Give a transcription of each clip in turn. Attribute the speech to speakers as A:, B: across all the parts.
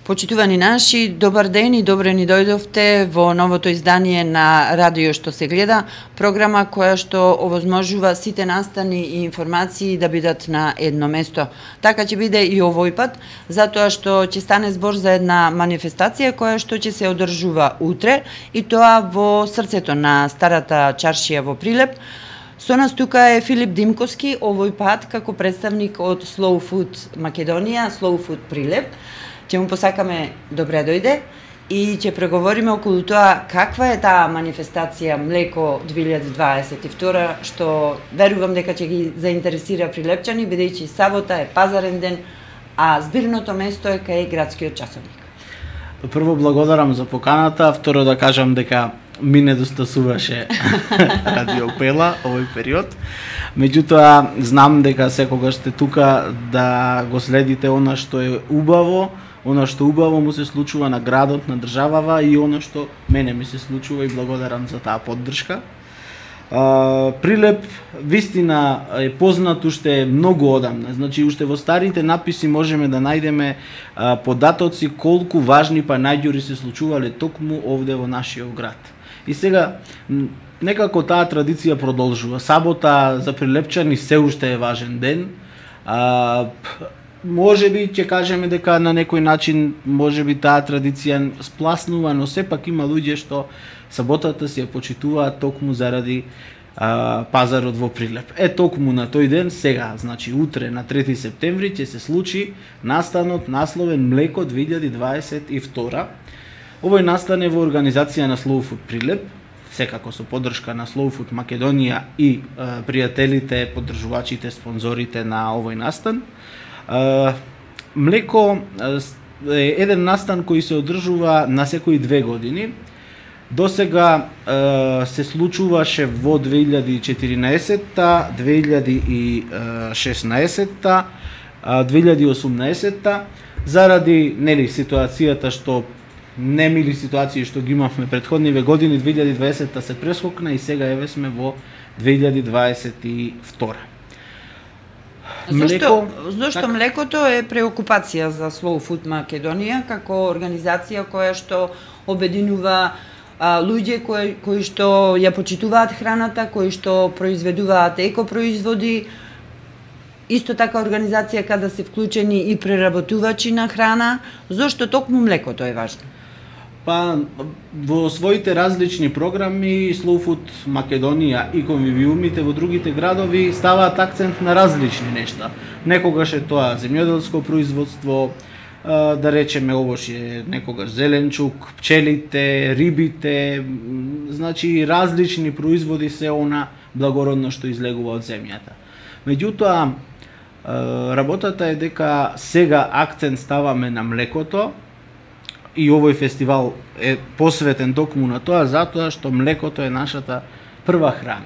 A: Почитувани наши, добар ден и добре ни дојдовте во новото издание на Радио што се гледа, програма која што овозможува сите настани и информации да бидат на едно место. Така ќе биде и овој пат, затоа што ќе стане збор за една манифестација која што ќе се одржува утре и тоа во срцето на старата чаршија во Прилеп. Со нас тука е Филип Димковски, овој пат како представник од Slow Food Македонија, Slow Food Прилеп. Ќе му посакаме добре дојде и ќе преговориме околу тоа каква е таа манифестација Млеко 2022, што верувам дека ќе ги заинтересира прилепчани, бидејќи сабота е пазарен ден, а збирното место е кај градскиот часовник.
B: Прво благодарам за поканата, второ да кажам дека ми недостасуваше Радио Пела овој период. Меѓутоа, знам дека секогаш сте тука да го следите она што е убаво, она што убаво му се случува на градот, на државава и она што мене ми се случува и благодарам за таа поддршка. Прилеп вистина е познат уште многу одамна. Значи уште во старите написи можеме да најдеме податоци колку важни панаѓури се случувале токму овде во нашиот град. И сега некако таа традиција продолжува. Сабота за прилепчани се уште е важен ден. Можеби ќе кажеме дека на некој начин можеби таа традиција спласнува, но сепак има луѓе што саботата си ја почитуваат токму заради пазарот во Прилеп. Токму на тој ден сега, значи утре на 3 септември ќе се случи настанот насловен Млеко 2022. Овој настан е во организација на Slow Food Прилеп, секако со поддршка на Slow Food Македонија и пријателите, поддржувачите, спонзорите на овој настан. Млеко е еден настан кој се одржува на секои 2 години. До сега се случуваше во 2014-та, 2016-та, 2018-та, заради ситуацијата што немили ситуации што ги имавме претходниве години, 2020-та се прескокна и сега еве сме во 2022.
A: Зошто млекото е преокупација за Slow Food Македонија како организација која што обединува луѓе кои што ја почитуваат храната, кои што произведуваат екопроизводи, исто така организација каде се вклучени и преработувачи на храна. Зошто токму млекото е важно?
B: Во своите различни програми Slow Food Македонија и конвивиумите во другите градови ставаат акцент на различни нешта. Некогаш е тоа земјоделско производство, да речеме овош е некогаш зеленчук, пчелите, рибите, значи различни производи се она благородно што излегува од земјата. Меѓутоа, работата е дека сега акцент ставаме на млекото, и овој фестивал е посветен токму на тоа, затоа што млекото е нашата прва храна.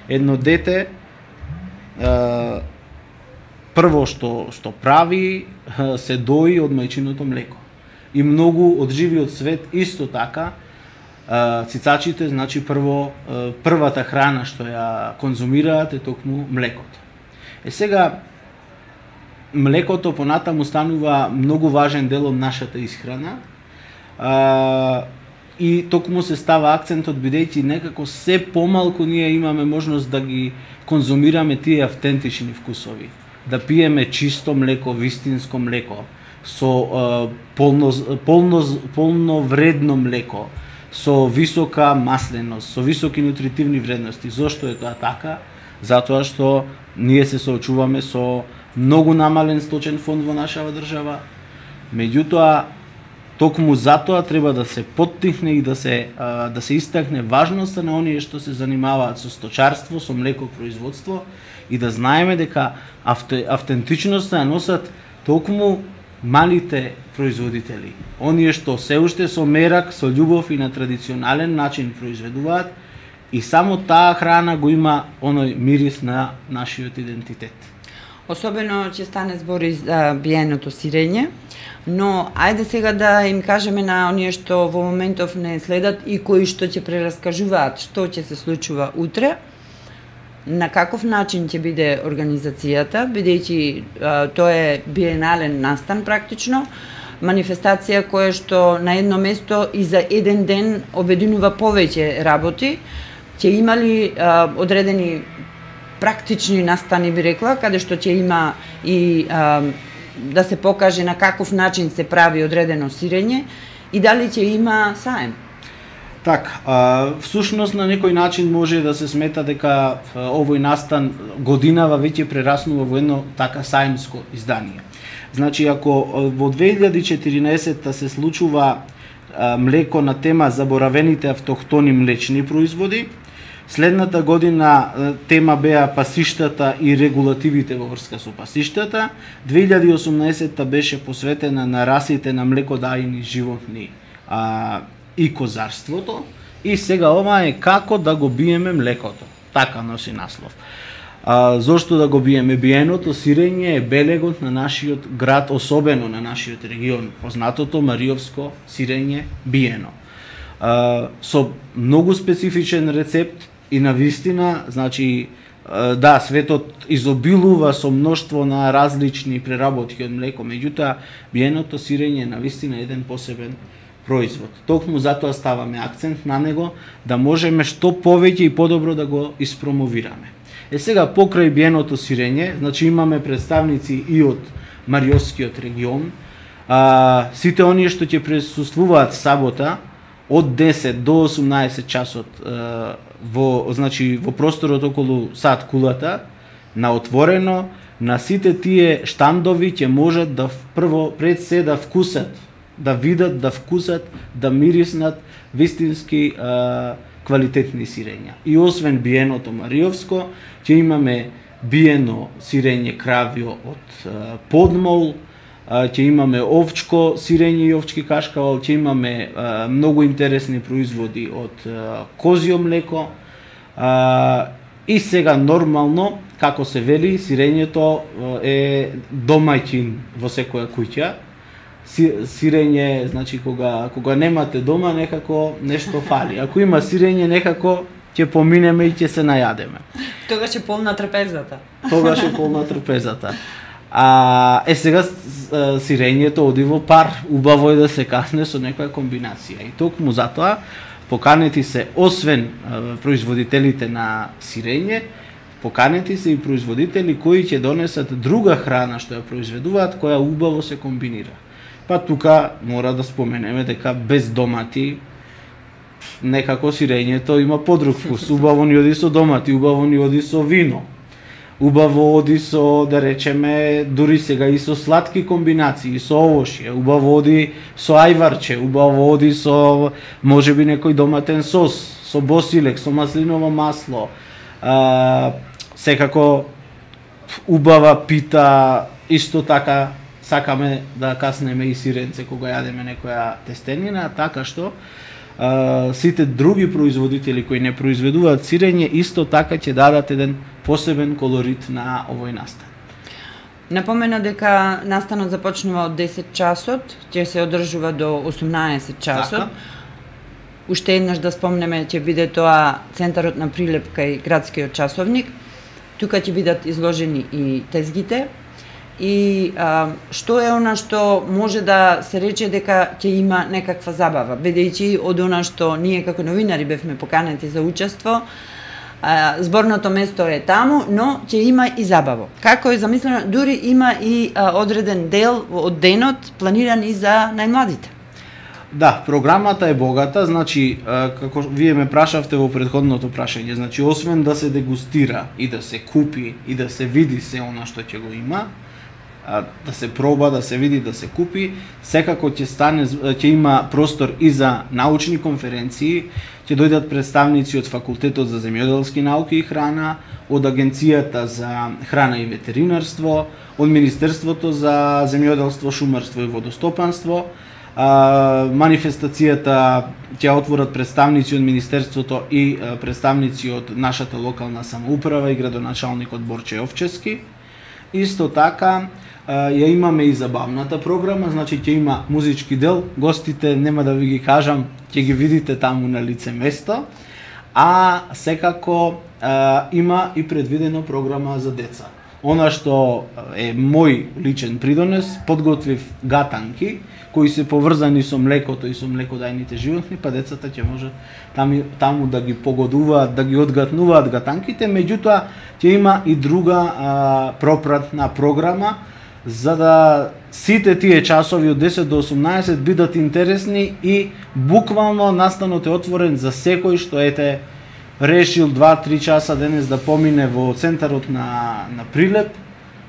B: Едно дете прво што прави се дои од мајчиното млеко. И многу од живиот свет исто така цицачите, значи првата храна што ја конзумираат е токму млекото. Сега млекото понатаму станува многу важен дел од нашата исхрана. И токму се става акцентот бидејќи некако се помалку ние имаме можност да ги конзумираме тие автентични вкусови, да пиеме чисто млеко, вистинско млеко, со полно вредно млеко, со висока масленост, со високи нутритивни вредности. Зошто е тоа така? Затоа што ние се соочуваме со многу намален сточен фонд во нашава држава. Меѓутоа, токму затоа треба да се поттикне и да се истакне важноста на оние што се занимаваат со сточарство, со млекопроизводство и да знаеме дека автентичноста ја носат токму малите производители. Оние што се уште со мерак, со љубов и на традиционален начин произведуваат и само таа храна го има оној мирис на нашиот идентитет.
A: Особено ќе стане збори за биеното сирење, но ајде сега да им кажеме на оние што во моментов не следат и кои што ќе прераскажуваат што ќе се случува утре, на каков начин ќе биде организацијата, бидејќи тоа е биенален настан практично, манифестација која што на едно место и за еден ден обединува повеќе работи. Ќе имали одредени практични настани, би рекла, каде што ќе има и да се покаже на каков начин се прави одредено сирење и дали ќе има саем.
B: Така, всушност на некој начин може да се смета дека овој настан годинава веќе прераснува во едно така саемско издание. Значи, ако во 2014 се случува млеко на тема заборавените автохтони млечни производи, следната година тема беа пасиштата и регулативите во врска со пасиштата, 2018 беше посветена на расите на млекодајни животни и козарството, и сега ова е како да го биеме млекото. Така носи наслов. Зошто да го биеме? Биеното сирење е белегот на нашиот град, особено на нашиот регион, познатото мариовско сирење биено. Со многу специфичен рецепт и навистина, значи, да, светот изобилува со мноштво на различни преработки од млеко, меѓутоа биеното сирење е навистина еден посебен производ. Токму затоа ставаме акцент на него, да можеме што повеќе и подобро да го испромовираме. Сега, покрај биеното сирење, значи имаме представници и од Мариовскиот регион, сите оние што ќе присуствуваат сабота, од 10 до 18 часот во просторот околу сад кулата, на отворено, на сите тие штандови ќе можат да прво пред се да вкусат, да видат, да вкусат, да мириснат вистински квалитетни сирења. И освен биеното мариовско, ќе имаме биено сирење кравио од подмол, ќе имаме овчко сирење и овчки кашкавал, ќе имаме многу интересни производи од козјо млеко, и сега нормално, како се вели, сирењето е домаќин во секоја куќа. Сирење, значи, кога немате дома, некако нешто фали. Ако има сирење, некако ќе поминеме и ќе се најадеме.
A: Тогаш е полна трпезата.
B: Тогаш е полна трпезата. Сега сирењето оди во пар, убаво е да се касне со некоја комбинација. И токму затоа поканети се, освен производителите на сирење, поканети се и производители кои ќе донесат друга храна што ја произведуваат, која убаво се комбинира. Па тука мора да споменеме дека без домати некако сирењето има подруг вкус. Убаво ни оди со домати, убаво ни оди со вино. Убаво оди со, да речеме, дури сега и со сладки комбинации, со овошје, убаво оди со ајварче, убаво оди со можеби некој доматен сос, со босилек, со маслиново масло. Секако убава пита, исто така сакаме да каснеме и сиренце кога јадеме некоја тестенина, така што сите други производители кои не произведуваат сирење исто така ќе дадат еден посебен колорит на овој настан.
A: Напомена дека настанот започнува од 10 часот, ќе се одржува до 18 часот.
B: Така.
A: Уште еднаш да спомнеме, ќе биде тоа центарот на прилеп кај градскиот часовник. Тука ќе бидат изложени и тезгите. И што е она што може да се рече дека ќе има некаква забава, бидејќи од она што ние како новинари бевме поканети за учество, зборното место е таму, но ќе има и забаво. Како е замислено, дури има и одреден дел од денот планиран и за најмладите.
B: Да, програмата е богата, значи, како вие ме прашавте во претходното прашање, значи, освен да се дегустира и да се купи и да се види се она што ќе го има, да се проба, да се види, да се купи, секако ќе има простор и за научни конференции, ќе дојдат представници од Факултетот за земјоделски науки и храна, од Агенцијата за храна и ветеринарство, од Министерството за земјоделство, шумарство и водостопанство. Манифестацијата ќе отворат представници од Министерството и представници од нашата локална самоуправа и градоначалникот Борче Овчески. Исто така, ја имаме и забавната програма, значи ќе има музички дел, гостите нема да ви ги кажам, ќе ги видите таму на лице место, а секако има и предвидено програма за деца. Она што е мој личен придонес, подготвив гатанки кои се поврзани со млекото и со млекодајните животни, па децата ќе можат таму да ги погодуваат, да ги одгатнуваат гатанките, меѓутоа ќе има и друга пропратна програма за да сите тие часови од 10 до 18 бидат интересни и буквално настанот е отворен за секој што решил 2-3 часа денес да помине во центарот на Прилеп,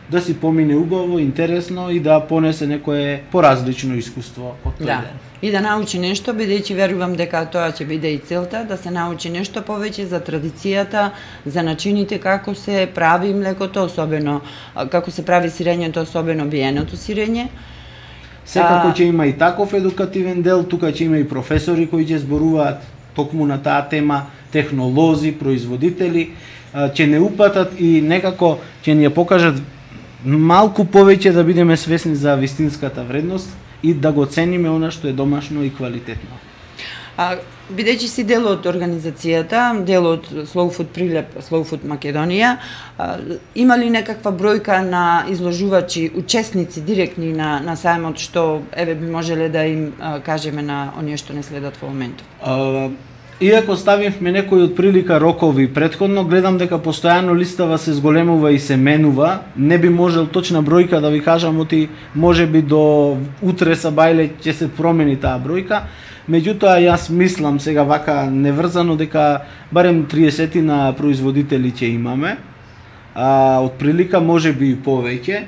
B: да си помине убаво, интересно и да понесе некое поразлично искуство од тој ден.
A: И да научи нешто, бидејќи верувам дека тоа ќе биде и целта, да се научи нешто повеќе за традицијата, за начините како се прави млекото, особено како се прави сирењето, особено биеното сирење.
B: Секако ќе има и таков едукативен дел, тука ќе има и професори кои ќе зборуваат токму на таа тема, технолози, производители, ќе не упатат и некако ќе ни ја покажат малку повеќе да бидеме свесни за вистинската вредност и да го цениме она што е домашно и квалитетно.
A: Бидејќи си дел од организацијата, дел од Slow Food Прилеп, Slow Food Македонија, има ли некаква бројка на изложувачи, учесници директни на сајмот што би можеле да им кажеме на оние што не следат во моментот?
B: Иако ставивме некои од прилика рокови претходно, гледам дека постојано листава се зголемува и се менува. Не би можел точна бројка да ви кажам, оти можеби до утре сабајле ќе се промени таа бројка. Меѓутоа јас мислам сега вака неврзано дека барем 30 на производители ќе имаме. Од прилика можеби и повеќе.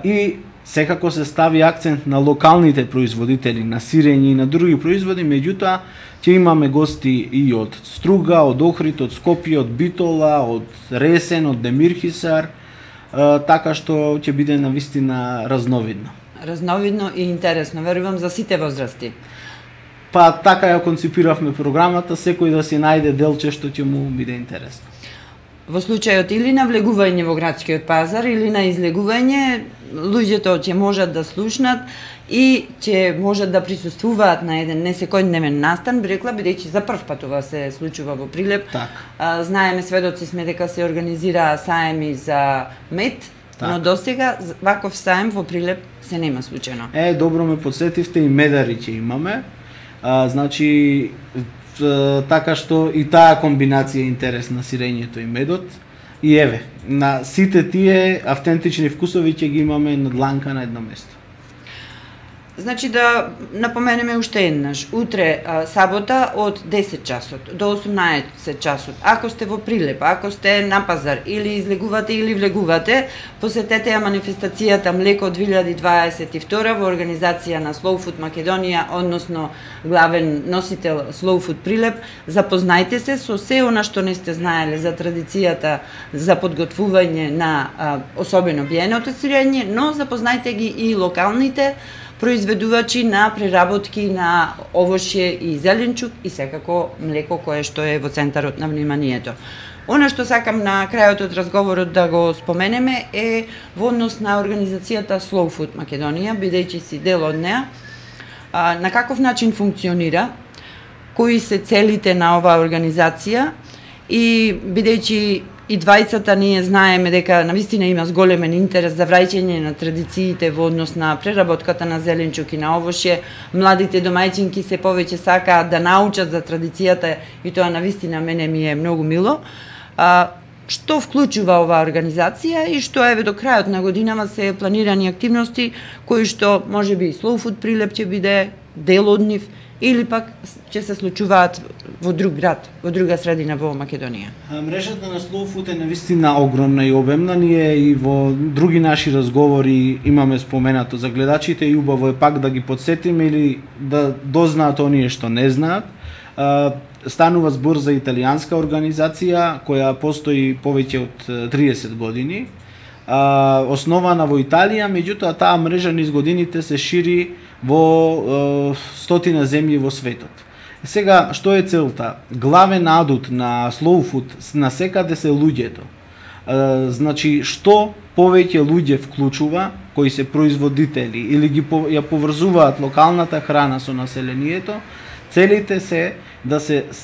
B: И секако се стави акцент на локалните производители, на сирење и на други производи, меѓутоа ќе имаме гости и од Струга, од Охрид, од Скопје, од Битола, од Ресен, од Демирхисар, така што ќе биде навистина разновидно.
A: Разновидно и интересно, верувам за сите возрасти.
B: Па така ја конципиравме програмата, секој да си најде делче што ќе му биде интересно.
A: Во случајот или на влегување во градскиот пазар или на излегување, луѓето ќе можат да слушнат и ќе можат да присуствуваат на еден несекојдневен настан, би рекла, бидејќи за прв пат ова се случува во Прилеп. Знаеме, сведоци сме дека се организира саеми за мед, но досега ваков саем во Прилеп се нема случајно.
B: Добро ме подсетивте, и медари ќе имаме. Значи, така што и таа комбинација е интересна, сирењето и медот. И еве, на сите тие автентични вкусови ќе ги имаме на дланка на едно место.
A: Значи да напоменеме уште еднаш, утре сабота од 10 часот до 18 часот. Ако сте во Прилеп, ако сте на пазар или излегувате или влегувате, посетете ја манифестацијата Млеко 2022 во организација на Slow Food Македонија, односно главен носител Slow Food Прилеп. Запознајте се со се она што не сте знаеле за традицијата за подготвување на особено биеното сирење, но запознајте ги и локалните произведувачи на преработки на овошје и зеленчук и секако млеко кое што е во центарот на вниманието. Она што сакам на крајот од разговорот да го споменеме е во однос на организацијата Slow Food Македонија, бидејќи си дел од неа, на каков начин функционира, кои се целите на оваа организација и бидејќи и двајцата ние знаеме дека навистина има зголемен интерес за враќање на традициите во однос на преработката на зеленчук и на овошје. Младите домајчинки се повеќе сакаат да научат за традицијата и тоа навистина мене ми е многу мило. Што вклучува оваа организација и што еве до крајот на годинава се планирани активности кои што можеби Slow Food Прилеп ќе биде дел од нив или пак ќе се случуваат во друг град, во друга средина во Македонија?
B: Мрежата на Slow Food е навистина огромна и обемна. Ние и во други наши разговори имаме споменато за гледачите и убаво е пак да ги подсетиме или да дознаат оние што не знаат. Станува збор за италијанска организација која постои повеќе од 30 години. Основана во Италија, меѓутоа таа мрежа низ годините се шири во стотина земји во светот. Сега, што е целта? Главен адут на Slow Food насекаде се луѓето. Значи, што повеќе луѓе вклучува, кои се производители или ги ја поврзуваат локалната храна со населението, целите се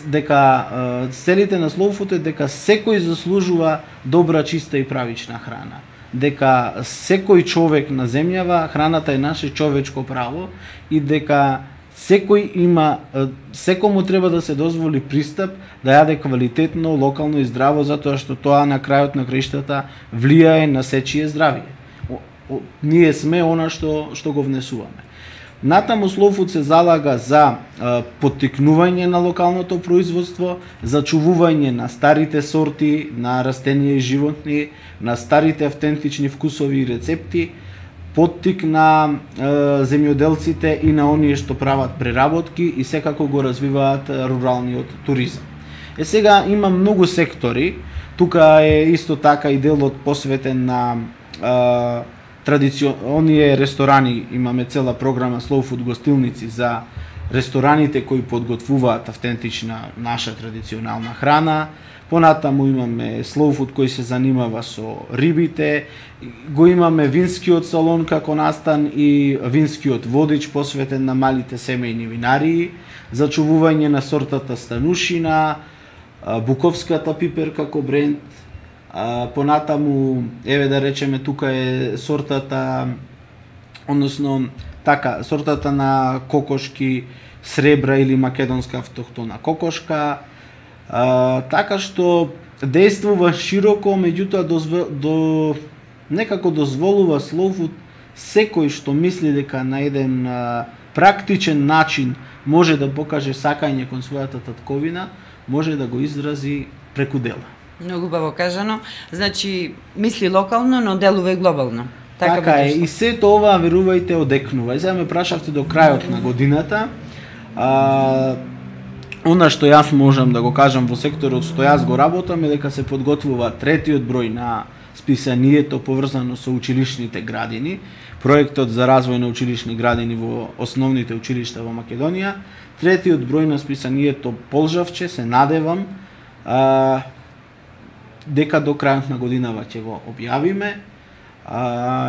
B: дека целите на Slow Food е дека секој заслужува добра, чиста и правична храна. дека секој човек на земјава, храната е наше човечко право и дека секому треба да се дозволи пристап да јаде квалитетно, локално и здраво, затоа што тоа на крајот на краиштата влијае на сечие здравје. Ние сме она што го внесуваме. Натаму Slow Food се залага за поттикнување на локалното производство, за чувување на старите сорти на растенија и животни, на старите автентични вкусови и рецепти, поттик на земјоделците и на оние што прават преработки и секако го развиваат руралниот туризам. Сега има многу сектори, тука е исто така и делот посветен на оние ресторани, имаме цела програма Slow Food гостилници за рестораните кои подготвуваат автентична наша традиционална храна. Понатаму имаме Slow Food кој се занимава со рибите, го имаме винскиот салон како настан и винскиот водич посветен на малите семејни винарии, за чувување на сортата станушина, буковската пипер како бренд. Понатаму, еве да речеме, тука е сортата, односно така, сортата на кокошки сребра или македонска автохтона кокошка, така што действува широко, меѓутоа некако дозволува Slow Food секој што мисли дека на еден практичен начин може да покаже сакање кон својата татковина, може да го изрази преку дела.
A: Многу убаво кажано. Значи, мисли локално, но делува и глобално.
B: Така е, и сето ова, верувајте, одекнува. И сега ме прашавте до крајот на годината. Она што јас можам да го кажам во секторот што јас го работам е дека се подготвува третиот број на списанието поврзано со училишните градини, проектот за развој на училишни градини во основните училишта во Македонија. Третиот број на списанието полжавче, се надевам, дека до крајот на годинава ќе го објавиме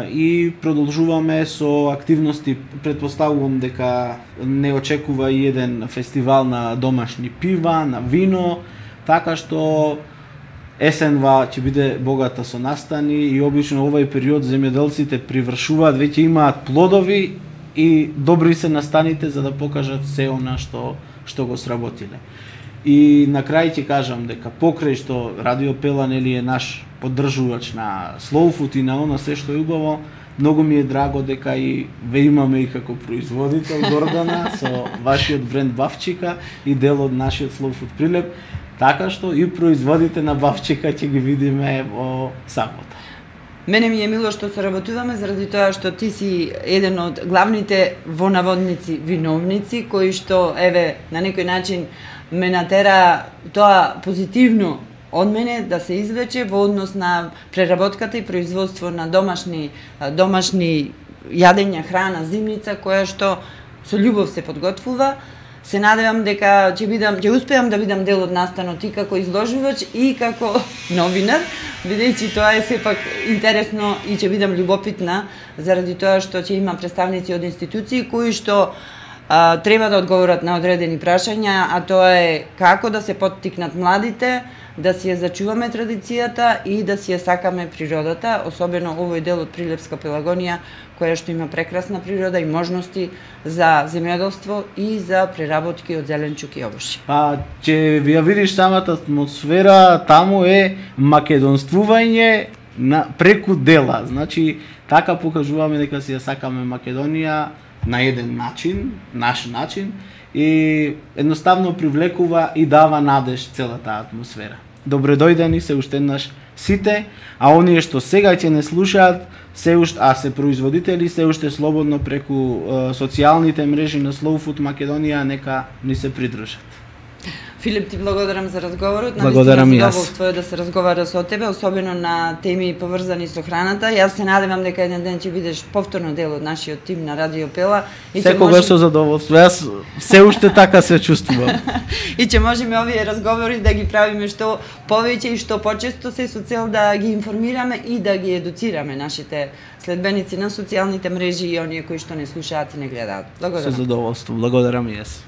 B: и продолжуваме со активности. Претпоставувам дека не очекува и еден фестивал на домашни пива, на вино, така што есенва ќе биде богата со настани и обично овој период земјоделците привршуваат, веќе имаат плодови и добри се настаните за да покажат се она што го сработиле. И на крај ќе кажам дека покрај што Радио Пела нели е наш поддржувач на Slow Food и на она се што е убаво, многу ми е драго дека и ве имаме и како производител Гордана со вашиот бренд Бавчика и дел од нашиот Slow Food прилеп, така што и производите на Бавчика ќе ги видиме во сабота.
A: Мене ми е мило што соработуваме заради тоа што ти си еден од главните во наводници виновници кои што еве на некој начин ме натера тоа позитивно од мене да се извлече во однос на преработката и производство на домашни јадења, храна, зимница која што со љубов се подготвува. Се надевам дека ќе успеам да бидам дел од настанот и како изложувач и како новинар, бидејќи тоа е сепак интересно и ќе бидам љубопитна заради тоа што ќе има представници од институции кои што треба да одговорат на одредени прашања, а тоа е како да се поттикнат младите, да си ја зачуваме традицијата и да си ја сакаме природата, особено овој дел од Прилепска Пелагонија, која што има прекрасна природа и можности за земјоделство и за преработки од зеленчук и овошје.
B: Ќе ви ја видиш самата атмосфера, таму е македонствување преку дела. Значи, така покажуваме дека си ја сакаме Македонија на еден начин, наш начин, и едноставно привлекува и дава надеж целата атмосфера. Добре дојдени се уште еднаш сите, а оние што сега ќе не слушаат, а се производители, се уште слободно преку социјалните мрежи на Slow Food Македонија нека ни се придружат.
A: Филип, ти благодарам за разговорот.
B: Благодарам и јас.
A: Задоволство е да се разговара со тебе, особено на теми поврзани со храната. Јас се надевам дека еден ден ќе бидеш повторно дел од нашиот тим на Радио Пела.
B: Секогаш со задоволство. Јас се уште така се чувствувам.
A: И ќе можеме овие разговори да ги правиме што повеќе и што почесто, се со цел да ги информираме и да ги едуцираме нашите следбеници на социјалните мрежи и оние кои што не слушаат и не гледаат. Благодарам.
B: Со задоволство. Благодарам и јас.